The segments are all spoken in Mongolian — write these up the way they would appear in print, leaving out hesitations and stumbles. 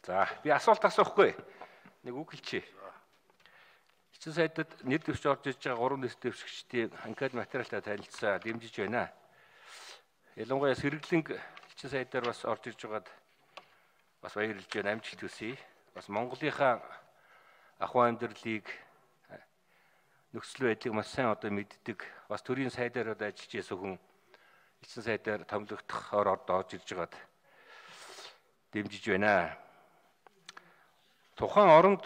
За би асуулт асуухгүй. Нэг үг хэлчихье. Эцэг сайдад нэр дэвшиж орж иж байгаа 3 нэр дэвшигчдийн анкет материалтай танилцсан дэмжиж байна. Ялангуяа сэргэлэнг эцэг сайдаар бас орж ирж байгаад бас баярлж байна, амжилт хүсье. Бас Монголынхаа ахуй амьдралыг нөхцөл байдлыг маш сайн одоо мэддэг, бас төрийн сайдаар ажиллаж байсан хүн эцэг сайдаар томилогдохоор орж ирж байгаад дэмжиж байна. Тухайн оронд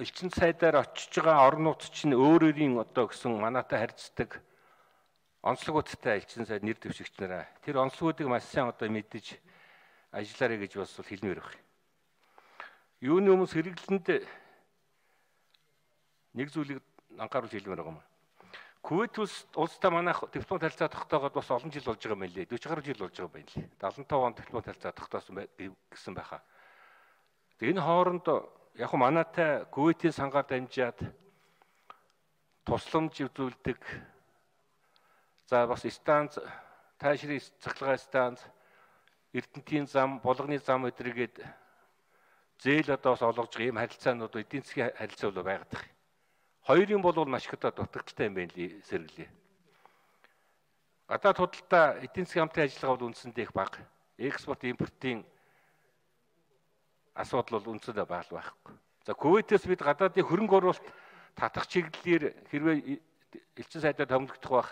элчин сайдаар очиж байгаа орнууд чинь өөрөөрийн одоо гэсэн манайтай харьцдаг онцлогуудтай элчин сайд нэр дэвшигч нараа. Тэр онцлогуудыг маш сайн одоо мэдэж ажиллаарай гэж бас хэлмээр байна. Юуны өмнө сэргэлэнд нэг зүйлийг анхааруулж хэлмээр байгаа юм. Кувейт улстай манайх диплом харилцаа тогтоогоод бас олон жил болж байгаа юм лээ. 40 гаруй жил болж байгаа юм лээ. 75 онд диплом харилцаа тогтоосон гэсэн байхаа. Энэ хооронд яг манайтай Кувейтийн сангаар дамжаад тусламж үзүүлдэг. За бас станц, таашрын цахилгаан станц, Эрдэнтийн зам, Булганы зам өдрийгээд зээл одоо бас олгож байгаа юм харилцаанууд эдийн засгийн харилцаа бол байгаад байна. Хоёрын бол маш их одоо дутагдaltaй юм байна лээ сэргэлээ. Гадаад худалдаа эдийн засгийн хамтын ажиллагаа бол үндсэндээ их бага. Экспорт, импортын асуудал бол үндсэндээ бага байхгүй. За Кувейтээс бид гадаадын хөрөнгө оруулалт татах чиглэлээр хэрвээ элчин сайдаар томилогдох байх.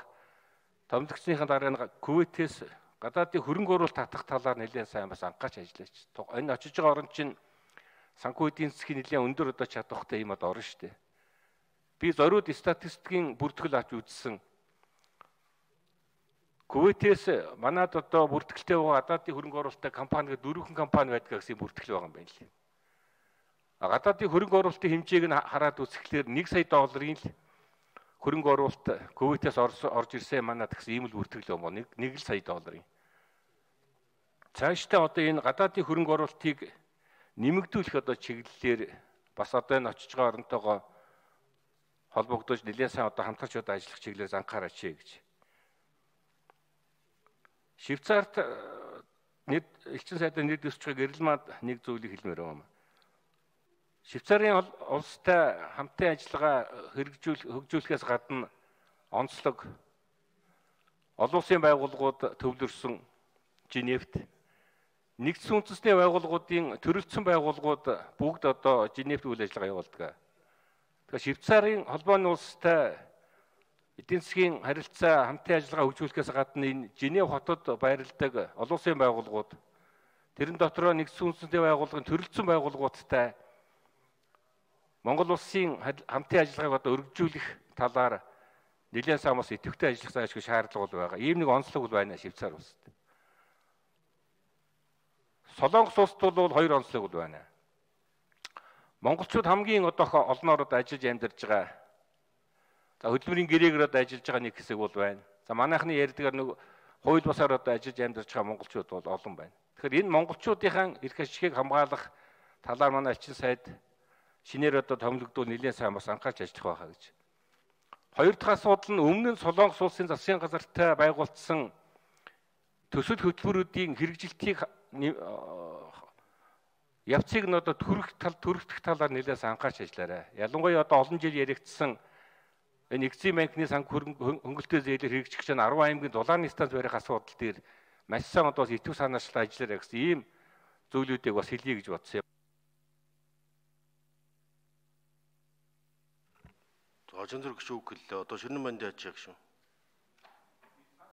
Томилогдсныхаа дараа нь Кувейтээс гадаадын хөрөнгө оруулалт татах талаар нэлээд сайн бас анхаарч ажиллаж. Энэ очиж байгаа орн чинь санхүү эдийн засгийн нэлээд өндөр одоо чадвартай юм одоо орно шүү дээ. Би зориуд статистикийн бүртгэл авч үзсэн. Кувейтээс манад одоо бүртгэлтэй байгаа гадаадын хөрөнгө оруулалттай компаниг 4 компани байдаг гэсэн бүртгэл байгаа юм байна лээ. Гадаадын хөрөнгө оруулалтын хэмжээг нь хараад үзэхлээр 1 сая долларын л хөрөнгө оруулалт Кувейтээс орж ирсэн манад гэсэн ийм л бүртгэл юм байна. 1 сая долларын. Цаашдаа одоо энэ гадаадын хөрөнгө оруулалтыг нэмэгдүүлэх одоо чиглэлээр бас одоо энэ очиж байгаа оронтойгоо холбогдож нэлээд сайн одоо хамтарч одоо ажиллах чиглэлээр анхаараач гэж. Швейцарт элчин сайдын нэр дэвших гэрэлмад нэг зүйлийг хэлмээр байна. Швейцарын улстай хамтын ажиллагаа хөгжүүлэхээс гадна онцлог олон улсын байгууллагууд төвлөрсөн Женевт нэгдсэн үндэсний байгууллагуудын төрөлцсөн байгууллагууд бүгд одоо Женевт үйл ажиллагаа явуулдаг. Тэгэхээр Швейцарын холбооны улстай эдийн засгийн харилцаа хамтын ажиллагаа хөгжүүлэхээс гадна энэ Женев хотод байрладаг олон улсын байгууллагууд тэрэн дотроо нэгдсэн үндэсний байгууллагын төрөлцсөн байгууллагуудтай Монгол улсын хамтын ажиллагааг одоо өргөжүүлэх талаар нэлээд сайн бас идэвхтэй ажиллах заашгүй шаардлага бол байгаа. Ийм нэг онцлог бол байна Швейцар улсад. Солонгос улсад бол 2 онцлог бол байна. Монголчууд хамгийн одоо олноор одоо ажиллаж амьдарч байгаа. За хөдөлмөрийн гэрээгээр одоо ажиллаж байгаа нэг хэсэг бол байна. За манайхны ярьдгаар нэг хууль бусаар одоо ажиллаж амьдарч байгаа монголчууд бол олон байна. Тэгэхээр энэ монголчуудын эрх ашигыг хамгаалах талаар манай элчин сайд шинээр одоо томилогдвол нэлээд сайн бас анхаарч ажиллах байхаа гэж. Хоёр дахь асуудал нь өмнө нь Солонгос улсын засгийн газартай байгуулсан төсөл хөтөлбөрүүдийн хэрэгжилтийг явцыг нь одоо төрөлтөх талаар нэлээд анхаарч ажиллаарай. Ялангуяа одоо олон жил яригдсан энэ Экзим банкны хөнгөлөлтөө зээлээр хэрэгжих чинь 10 аймгийн дулааны станц барих асуудал дээр маш сайн одоо идэв санаачлал ажиллаарай гэсэн ийм зүйлүүдийг бас хэлье гэж бодсон юм. Ажин зэрэг шүү гэлээ. Одоо шинэ манд яаж яах шүү?